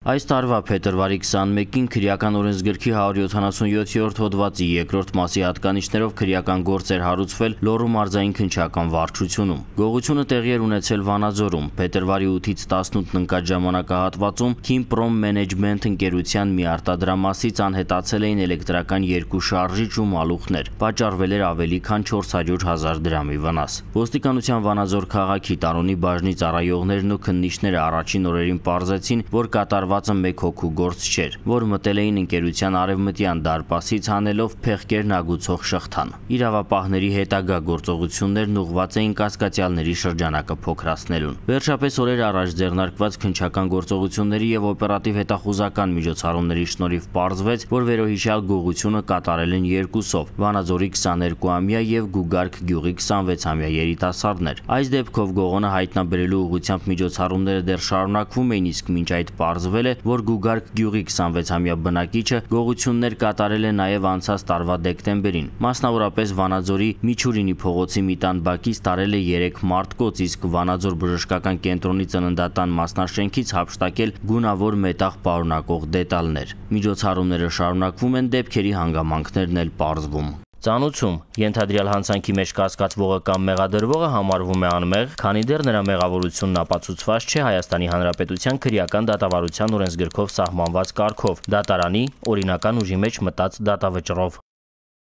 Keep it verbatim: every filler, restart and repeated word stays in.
Այս տարվա փետրվարի քսանմեկին քրեական օրենսգրքի հարյուր յոթանասունյոթերորդ հոդվածի երկրորդ մասի հատկանիշներով քրեական գործ էր հարուցվել Լոռու մարզային քննչական վարչությունում։ Գողությունը տեղի էր ունեցել Վանաձորում։ Փետրվարի ութից տասնութն ընկած ժամանակահատվածում Քիմպրոմ Մենեջմենթ ընկերության մի արտադրամասից անհետացել էին էլեկտրական երկու շարժիչ ու մալուխներ։ Պատճառվել էր ավելի քան չորս հարյուր հազար դրամի վնաս։ Ոստիկանության Վանաձոր քաղաքի Տարոնի բաժնի ծառայողներն ու քննիչները առաջին օրերին պարզեցին, որ կատարվածը մեկ հոգու գործ չէր, որ մտել էին ընկերության արևմտյան դարպասից հանելով փեղկերն ագուցող շղթան։ Իրավապահների հետագա գործողություններն ուղղված էին կասկածյալների շրջանակը փոքրացնելուն։ Վերջապես օրեր առաջ ձեռնարկված քննչական գործողությունների եւ օպերատիվ հետախուզական միջոցառումների շնորհիվ պարզվեց, որ վերոհիշյալ գողությունը կատարել են երկուսով՝ Վանաձորի քսաներկուամյա եւ Գուգարք գյուղի քսանվեցամյա երիտասարդներ։ Այս դեպքով գողոնը հայտնաբերելու ուղղությամբ միջոցառումները դեռ շարունակվում էին, իսկ մինչ այդ պարզվել է, որ Գուգարք գյուղի քսանվեցամյա բնակիչը գողություններ կատարել է նաեւ անցած տարվա դեկտեմբերին։ Մասնավորապես Վանաձորի Միչուրինի փողոցի մի տան բակից տարել է երեք մարտկոց, իսկ Վանաձոր բժշկական կենտրոնի ծննդատան մասնաշենքից հափշտակել գունավոր մետաղ պարունակող դետալներ։ Միջոցառումները շարունակվում են, դեպքերի հանգամանքներն էլ պարզվում։ Ծանուցում ենթադրյալ հանցանքի մեջ կասկածվողը կամ մեղադրվողը համարվում է անմեղ, քանի դեռ նրա մեղավորությունն ապացուցված չէ Հայաստանի Հանրապետության քրեական դատավարության օրենսգրքով սահմանված կարգով՝ դատարանի օրինական ուժի մեջ մտած դատավճռով։